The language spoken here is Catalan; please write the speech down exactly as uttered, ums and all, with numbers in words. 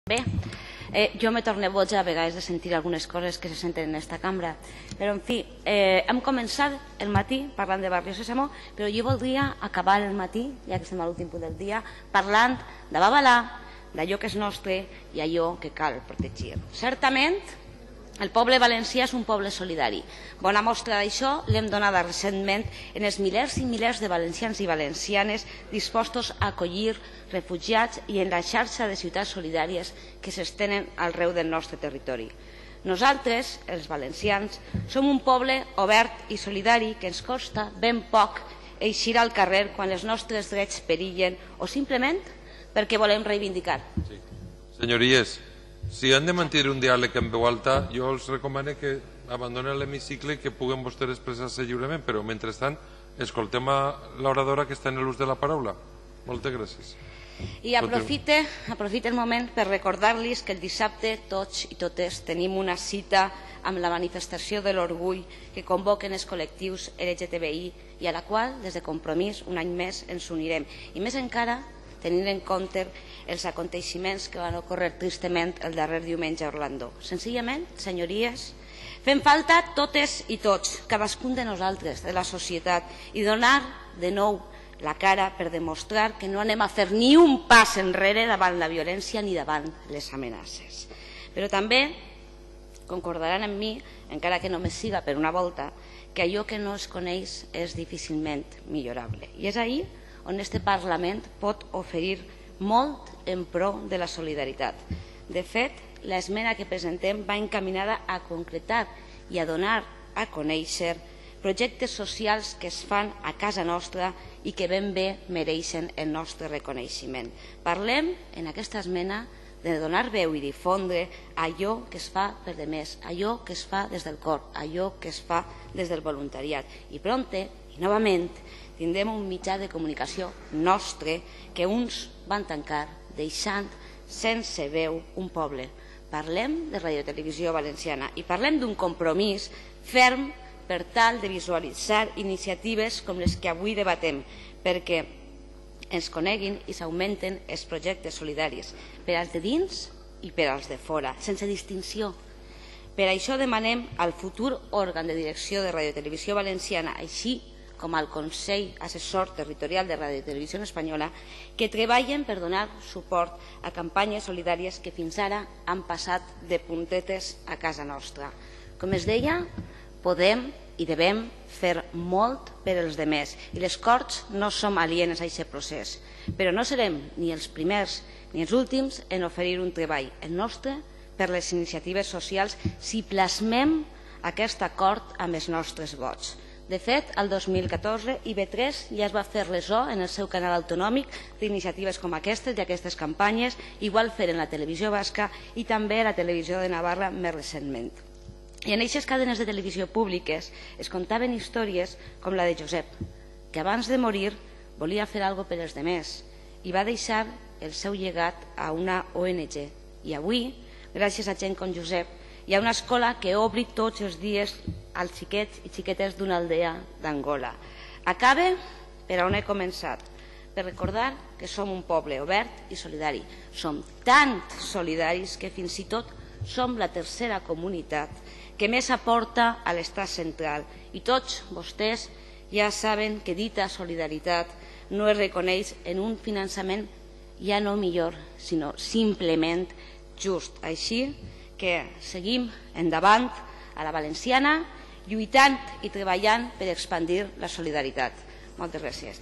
Bé, eh, jo me torno boja a vegades de sentir algunes coses que se senten en aquesta cambra, però en fi, eh, hem començat el matí parlant de Barrio Sésamo, però jo voldria acabar el matí, ja que estem a l'últim punt del dia, parlant de Babalà, d'allò que és nostre i allò que cal protegir. Certament, el poble valencià és un poble solidari. Bona mostra d'això l'hem donada recentment en els milers i milers de valencians i valencianes dispostos a acollir refugiats i en la xarxa de ciutats solidàries que s'estenen arreu del nostre territori. Nosaltres, els valencians, som un poble obert i solidari que ens costa ben poc eixir al carrer quan els nostres drets perillen o simplement perquè volem reivindicar. Sí. Senyories, si han de mantenir un diàleg en veu alta, jo els recomano que abandonen l'hemicicle i que puguen vostès expressar-se lliurement, però mentrestant escoltem a l'oradora que està en l'ús de la paraula. Moltes gràcies. I aprofite, aprofite el moment per recordar-los que el dissabte tots i totes tenim una cita amb la manifestació de l'orgull que convoquen els col·lectius L G T B I i a la qual, des de Compromís, un any més ens unirem. I més encara, tenint en compte els aconteixements que van ocórrer tristament el darrer diumenge a Orlando. Senzillament, senyories, fem falta totes i tots, cadascun de nosaltres, de la societat, i donar de nou la cara per demostrar que no anem a fer ni un pas enrere davant la violència ni davant les amenaces. Però també concordaran amb mi, encara que només siga per una volta, que allò que no es coneix és difícilment millorable. I és ahir on este Parlament pot oferir molt en pro de la solidaritat. De fet, l'esmena que presentem va encaminada a concretar i a donar a conèixer projectes socials que es fan a casa nostra i que ben bé mereixen el nostre reconeixement. Parlem en aquesta esmena de donar veu i difondre allò que es fa per demés, allò que es fa des del cor, allò que es fa des del voluntariat. I prompte, i novament, tindrem un mitjà de comunicació nostre que uns van tancar deixant sense veu un poble. Parlem de Radiotelevisió Valenciana i parlem d'un compromís ferm per tal de visualitzar iniciatives com les que avui debatem, perquè ens coneguin i s'augmenten els projectes solidaris per als de dins i per als de fora, sense distinció. Per això demanem al futur òrgan de direcció de Radiotelevisió Valenciana, així com al Consell Assessor Territorial de Radiotelevisió Espanyola, que treballen per donar suport a campanyes solidàries que fins ara han passat de puntetes a casa nostra. Com es deia, podem i devem fer molt per als demés i les Corts no som alienes a aquest procés, però no serem ni els primers ni els últims en oferir un treball, el nostre, per les iniciatives socials si plasmem aquest acord amb els nostres vots. De fet, el dos mil catorze I V tres ja es va fer ressò en el seu canal autonòmic d'iniciatives com aquestes i aquestes campanyes, igual fer en la televisió basca i també a la televisió de Navarra més recentment. I en aquestes cadenes de televisió públiques es contaven històries com la de Josep, que abans de morir volia fer alguna cosa per als demés i va deixar el seu llegat a una O N G. I avui, gràcies a gent com Josep, hi ha una escola que obri tots els dies als xiquets i xiquetes d'una aldea d'Angola. Acabe per on he començat, per recordar que som un poble obert i solidari. Som tan solidaris que fins i tot som la tercera comunitat que més aporta a l'estat central. I tots vostès ja saben que dita solidaritat no es reconeix en un finançament ja no millor, sinó simplement just. Així que seguim endavant a la valenciana, lluitant i treballant per expandir la solidaritat. Moltes gràcies.